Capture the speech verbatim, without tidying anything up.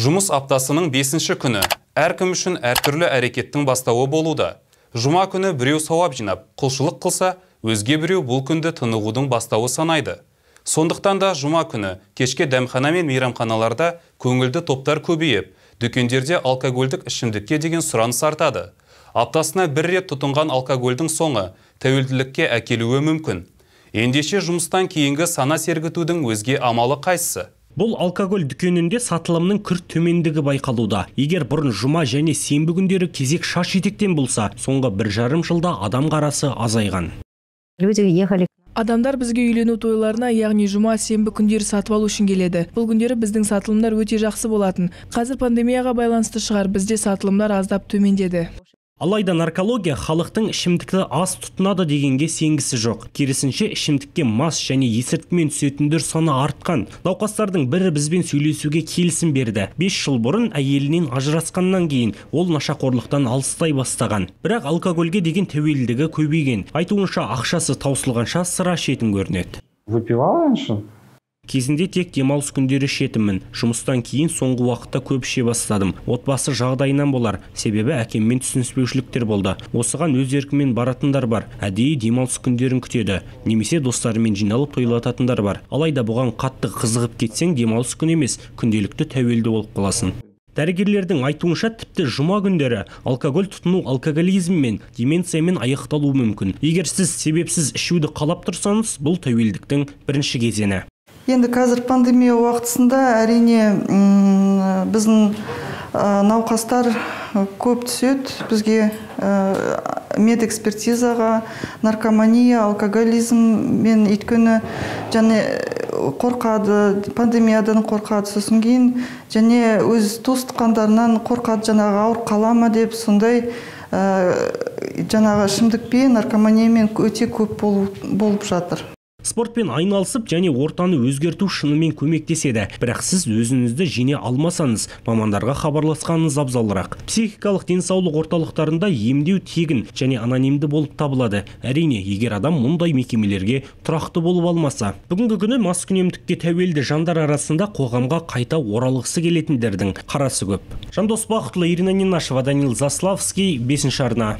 Жұмыс аптасының бесінші күні әркім үшін әртүрлі әрекеттің бастауы болуда. Жұма күні біреу сауап жинап, құлшылық қылса, өзге біреу бұл күнді тынығудың бастауы санайды. Сондықтан да жұма күні кешке дәмхана мен мейрамханаларда көңілді топтар көбейіп, дүкендерде алкогольдік ішімдікке деген сұраныс артады. Аптасына бір рет тұтынған алкогольдің соңы тәуелділікке әкелуі мүмкін. Ендеше жұмыстан кейінгі сана сергітудің өзге амалы қайсысы? Бұл алкоголь дүкенінде сатылымның күрт төмендігі байқалуда. Егер бұрын жұма және сенбі күндері кезек шаш етектен болса, соңғы бір жарым жылда адам қарасы азайған. Адамдар бізге үйлену тойларына, яғни жұма, сенбі күндері сатып алу үшін келеді. Бұл күндері біздің сатылымдар өте жақсы болатын. Қазір пандемияға байланысты шығар, бізде сатылымдар аздап төмендеді. Алайда наркология халықтың ішімдікті аз тұтынады дегенге сенгісі жоқ. Керісінше ішімдікке мас және есірткімен түсетіндер саны артқан. Науқастардың бірі бізбен сөйлесуге келісім берді. бес жыл бұрын әйелінен ажырасқаннан кейін ол нашақорлықтан алыстай бастаған. Бірақ алкогольге деген тәуелдігі көбейген. Айтуынша ақшасы таусылғанша сыра ішетін көрінеді. Выпивал раньше? Кезінде тек демалыс күндері ішетінмін. Жұмыстан кейін соңғы уақытта көп іше бастадым. Отбасы жағдайынан болар, себебі әкеммен түсініспеушіліктер болды. Осыған өз еркімен баратындар бар. Әдейі демалыс күндерін күтеді. Немесе достарымен жиналып тойлататындар бар. Алайда бұған қатты қызығып кетсең, демалыс күн емес, күнделікті тәуелді болып қаласың. Дәрігерлердің айтуынша тіпті жұма күндері алкоголь тұтыну алкоголизм мен деменциямен аяқталуы мүмкін. Егер сіз себепсіз ішуді қалап тұрсаңыз, бұл тәуелдіктің бірінші кезеңі. Енді қазір пандемия уақытысында әрине біздің науқастар көп түседі. Бізге медэкспертизаға, наркомания, алкоголизм мен өйткені және қорқады, пандемиядан қорқады, сосын кейін және өз туыс-туғандарынан қорқады, жаңағы ауырып қала ма деп, сондай жаңағы ішімдікпен, наркоманиямен өте көп болып жатыр. Спортпен айналысып және ортаны өзгерту шынымен көмектеседі. Бірақ сіз өзіңізді жеңе алмасаңыз, мамандарға хабарласқаныңыз абзалырақ. Психикалық денсаулық орталықтарында емдеу тегін және анонимді болып табылады. Әрине, егер адам мұндай мекемелерге тұрақты болып алмаса. Бүгінгі күні маскүнемдікке тәуелді жандар арасында қоғамға қайта оралғысы келетіндердің қарасы көп. Жандос Бақытұлы, Ирина Нинашева, Данил Заславский, бесінші арна.